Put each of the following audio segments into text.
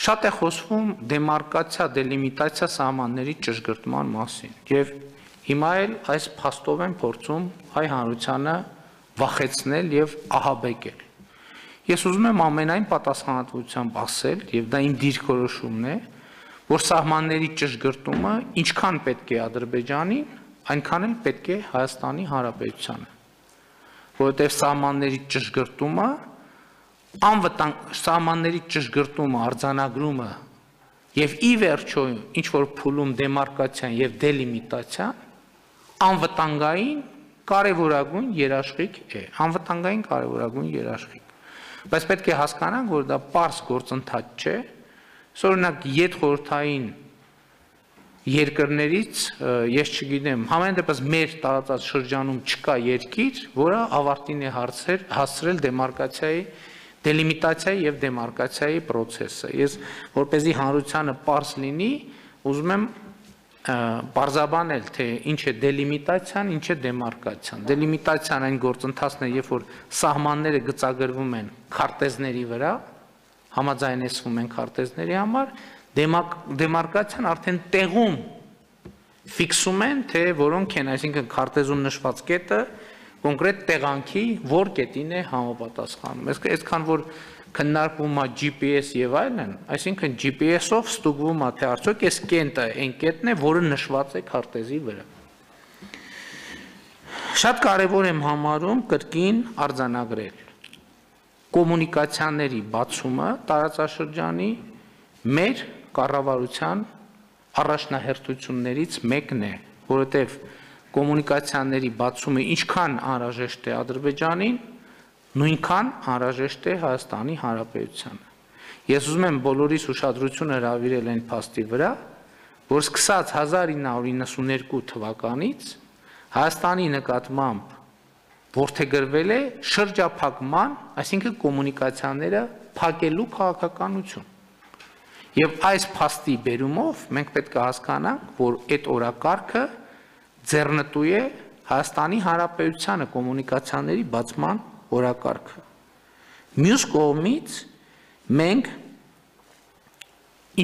Շատ է խոսվում դեմարկացիա, դելիմիտացիա սահմանների ճշգրտման մասին եւ հիմա էլ այս փաստով են փորձում հայ հանրությանը վախեցնել եւ ահաբեկել։ Ես ուզում եմ ամենայն պատասխանատվությամբ ասել, եւ դա իմ դիրքորոշումն է, որ սահմանների ճշգրտումը ինչքան պետք է Ադրբեջանին, այնքան էլ պետք է Հայաստանի Հանրապետությանը, որովհետեւ սահմանների ճշգրտումը, անվտանգ սահմանների ճշգրտումը, արձանագրումը եւ ի վերջո ինչ որ փուլում դեմարկացիան եւ դելիմիտացիան անվտանգային կարևորագույն երաշխիք է, անվտանգային կարևորագույն երաշխիք։ Բայց պետք է հասկանանք, որ դա պարզ գործընթաց չէ, օրինակ յետխորհրդային երկրներից, ես չգիտեմ, համենայն դեպս մեր տարածած շրջանում չկա երկիր, որը ավարտին է հասցրել դեմարկացիայի, դելիմիտացիայի եւ դեմարկացիայի process-ը։ Ես որպեսզի հանրությանը պարզ լինի, ուզում եմ պարզաբանել, թե ինչ է դելիմիտացիան, ինչ է դեմարկացիան։ Դելիմիտացիան այն գործընթացն է, երբ որ սահմանները գծագրվում են քարտեզների վրա, համաձայնեցվում են քարտեզների համար, դեմարկացիան արդեն տեղում ֆիքսում են, թե որոնք են, այսինքն քարտեզում նշված կետը կոնկրետ տեղանքի որ կետին է համապատասխանում։ Այսքան որ քննարկվում է GPS եւ այլն, այսինքն GPS-ով ստուգվում է, թե արդյոք այս կետը այն կետն է, որը նշված է քարտեզի վրա։ Շատ կարևոր եմ համարում կրկին արձանագրել կոմունիկացիաների բացումը տարածաշրջանի մեր կառավարության առաջնահերթություններից մեկն է, որովհետև կոմունիկացիաների բացումը ինչքան անհրաժեշտ է Ադրբեջանին, նույնքան անհրաժեշտ է Հայաստանի Հանրապետությանը։ Ես ուզում եմ բոլորիս ուշադրությունը հրավիրել այն փաստի վրա, որ սկսած 1992 թվականից Հայաստանի նկատմամբ որդեգրվել է շրջափակման, այսինքն կոմունիկացիաները փակելու քաղաքականություն։ Եվ այս փաստի բերումով մենք պետք է հասկանանք, որ այդ օրակարգը ձեռնտու է Հայաստանի Հանրապետությանը կոմունիկացիաների բացման օրակարգը։ Մյուս կողմից մենք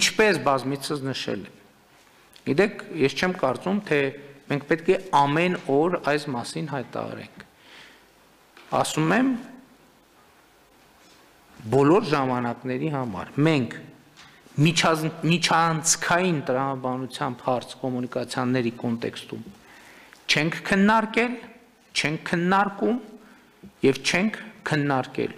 ինչպես բազմիցս նշել եմ։ Գիտեք, ես չեմ կարծում, թե մենք պետք է ամեն օր այս մասին հայտարարենք։ Ասում եմ բոլոր ժամանակների համար մենք միջանցքային տրամաբանությամբ հարց կոմունիկացիաների կոնտեքստում չենք քննարկել, չենք քննարկում եւ չենք քննարկել։